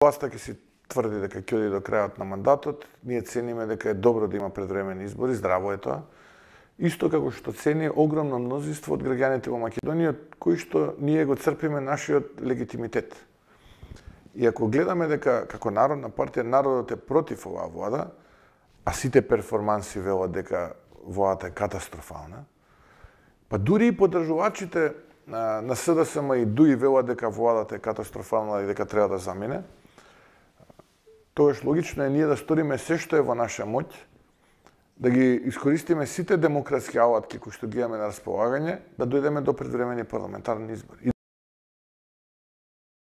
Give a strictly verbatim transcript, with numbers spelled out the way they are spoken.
Власта ќе си тврди дека ќе оди до крајот на мандатот, ние цениме дека е добро да има предвремени избори, здраво е тоа. Исто како што цени огромно мнозинство од граѓаните во Македонија, кои што ние го црпиме нашиот легитимитет. И ако гледаме дека како Народна партија народот е против оваа влада, а сите перформанси велат дека владата е катастрофална, па дури и поддржувачите на СДСМ и ДУИ велат дека владата е катастрофална и дека треба да замине, тогаш логично е ние да сториме се што е во наша моќ, да ги искористиме сите демократски алатки кои што ги имаме на располагање, да дојдеме до предвремени парламентарни избори.